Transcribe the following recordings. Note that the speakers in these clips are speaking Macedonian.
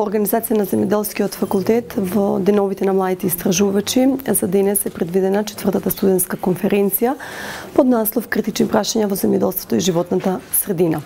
Организација на земјоделскиот факултет во деновите на младите истражувачи за денес е предвидена 4-та студентска конференција под наслов Критични прашања во земјоделството и животната средина.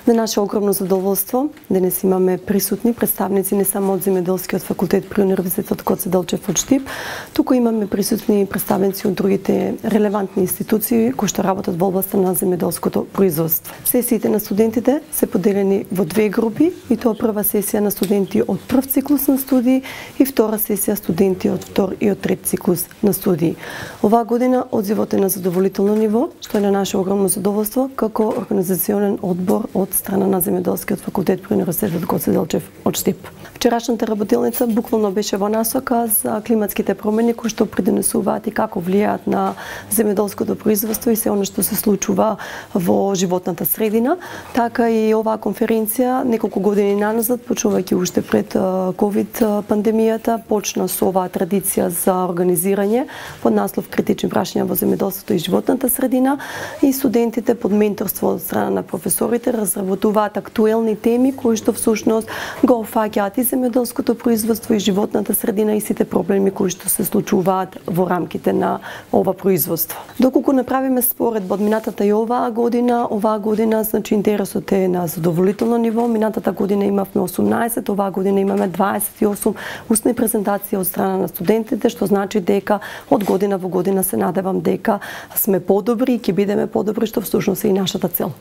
На наше огромно задоволство денес имаме присутни представници не само од земјоделскиот факултет при Универзитетот Гоце Делчев од Штип, туку имаме присутни представници од другите релевантни институции кои што работат во областа на земјоделското производство. Сесиите на студентите се поделени во две групи, и тоа прва сесија на студенти од прв циклус на студии и втора сесија студенти од втор и од трет циклус на студии. Оваа година одзивот е на задоволително ниво, што е на наше огромно задоволство како организационен одбор од страна на земјоделскиот факултет при Универзитетот Гоце Делчев од Штип. Вчерашната работилница буквално беше во насока за климатските промени кои што придонесуваат и како влијаат на земјоделското производство и се она што се случува во животната средина. Така и оваа конференција неколку години наназад, почнувајќи уште пред ковид пандемијата, почна со оваа традиција за организирање под наслов Критични прашања во земјоделството и животната средина, и студентите под менторство од страна на професорите разработуваат актуелни теми кои што всушност го опфаќаат и земјоделското производство и животната средина и сите проблеми кои што се случуваат во рамките на ова производство. Доколку направиме споредба од минатата и оваа година значи интересот е на задоволително ниво. Минатата година имавме 18, оваа година имаме 28 устни презентации од страна на студентите, што значи дека од година во година се надевам дека сме подобри и ќе бидеме подобри, што всушност е и нашата цел.